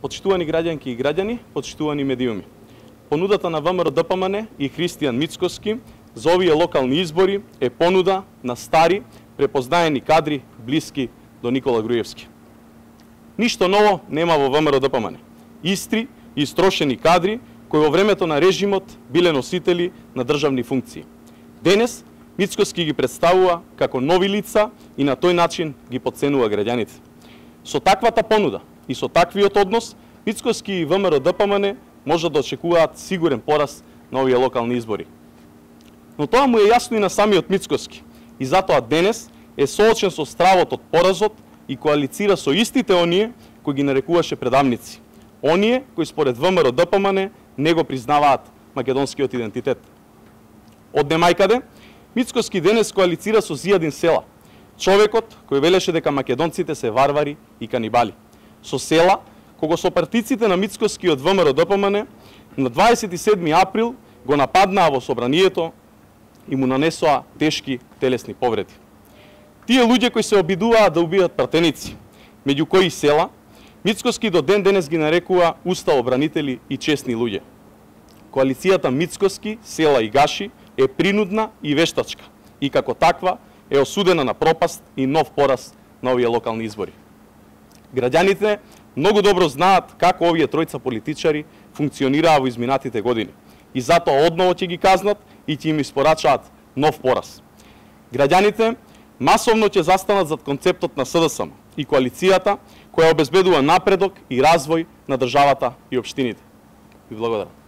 Почитувани граѓанки и граѓани, почитувани медиуми. Понудата на ВМРО-ДПМН и Христијан Мицкоски за овие локални избори е понуда на стари, препознаени кадри блиски до Никола Груевски. Ништо ново нема во ВМРО-ДПМН. Истри и истрошени кадри кои во времето на режимот биле носители на државни функции. Денес Мицкоски ги представува како нови лица и на тој начин ги потценува граѓаните. Со таквата понуда и со таквиот однос, Мицкоски и ВМРО-ДПМН може да очекуваат сигурен пораз на овие локални избори. Но тоа му е јасно и на самиот Мицкоски и затоа денес е соочен со стравот од поразот и коалицира со истите оние кои ги нарекуваше предавници. Оние кои според ВМРО-ДПМН не го признаваат македонскиот идентитет. Од немајкаде, Мицкоски денес коалицира со Зијадин Села, човекот кој велеше дека македонците се варвари и канибали. Со Села, кога сопартиците на Мицкоски од ВМРО-ДПМН на 27 април го нападнаа во собранието и му нанесоа тешки телесни повреди. Тие луѓе кои се обидуваат да убијат пратеници, меѓу кои Села, Мицкоски до ден денес ги нарекува уставобранители и честни луѓе. Коалицијата Мицкоски, Села и Гаши е принудна и вештачка и како таква е осудена на пропаст и нов пораз на овие локални избори. Граѓаните многу добро знаат како овие тројца политичари функционираа во изминатите години и затоа одново ќе ги казнат и ќе им испорачаат нов пораз. Граѓаните масовно ќе застанат зад концептот на СДСМ и коалицијата која обезбедува напредок и развој на државата и општините. Ви благодарам.